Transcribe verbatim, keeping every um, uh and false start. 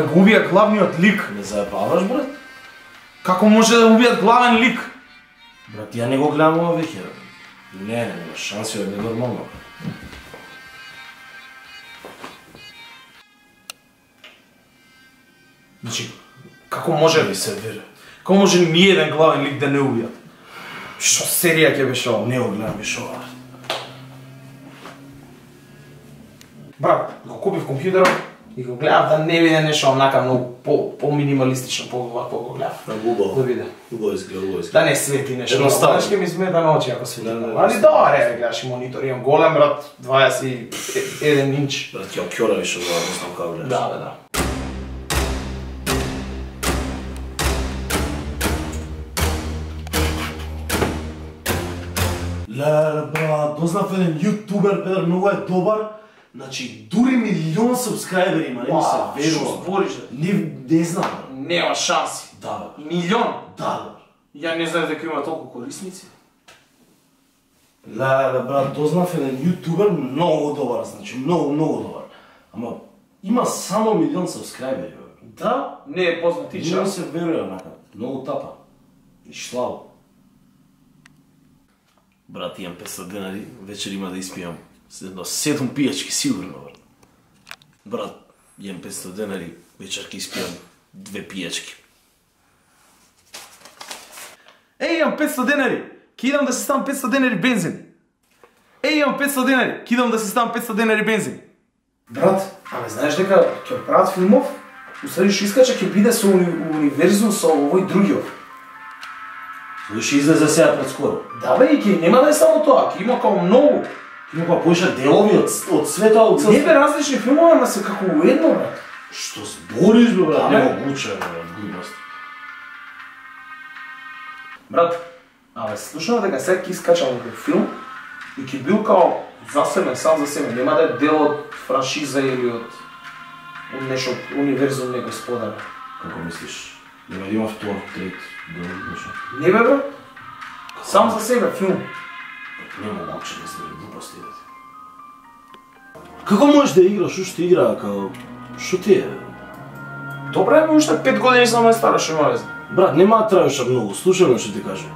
Абе го убија главниот лик. Не заебаваш, брат? Како може да убијат главен лик? Брат, ја не го гледам ова веќе. Не, не, нема шанси, е ненормално. Значи, како може Не се вере. Како може ни еден главен лик да не убијат? Што серија ќе беше ова? Не го гледам више ова. Брат, го купив компјутерот и го гледав да не биде нешто онака многу по по-минималистично, по-вакво го гледав. Убаво. Да биде. Убаво изгледа, убаво изгледа. Да не свети нешто. Едноставно. Знаеш ке ми смета на очи ако свети. Да, да, Али да. добре, бе, гледаш и монитор, имам голем брат, дваесет и еден инч. Брат, ќе окјора више ова, не знам како гледаш. Да, бе, да. Леле, брат, дознав еден јутубер, педер, многу е добар. Значи, дури милион сабскрајбери има, не ми се Вау, верува. што збориш, бе? Не, не знам, брат. Нема шанси. Да, бе. Милион. Да, бе. Ја не знаев дека има толку корисници. Леле, брат, дознав еден јутубер, многу добар, значи, многу, многу добар. Ама, има само милион сабскрајбери, бе. Да, не е познат и Не ми час. се верува, онака. Многу тапа. И шлаво. Брат, имам петстотини денари, вечер има да испијам едно седум пијачки, сигурно, брат. Брат, имам петстотини денари, вечер ќе испијам две пијачки. Еј, имам петстотини денари. Ке идам да се ставам петстотини денари бензин. Еј, имам петстотини денари. Ке идам да се ставам петстотини денари бензин. Брат, абе знаеш дека ќе прават филмов? Усади што искача ќе биде со уни, универзум со овој другиот. Тој ќе излезе сега пред скоро. Да бе, и ќе нема да е само тоа, ќе има као многу. Има па поиша делови од, од света, од цел Не бе различни филмови, ама се како уедно, брат. Што збориш, бе, брат? Да, бе. Немогуче, бе, брат, глупост. Брат, абе слушам дека сега ќе искачам некој филм и ќе бил као засебен, сам за себе. Нема да е дел од франшиза или од од нешто од универзум некој споделен. Како мислиш? Нема да има втор, трет, дел, нешто? Не бе, брат. Сам за себе филм. Немогуче да се глупости, бе. Како можеш да играш уште игра, како... Шо ти е? Добре, бе, уште пет години само е стара, што има веза. Брат, нема да траеш многу, слушај ме што ти кажам.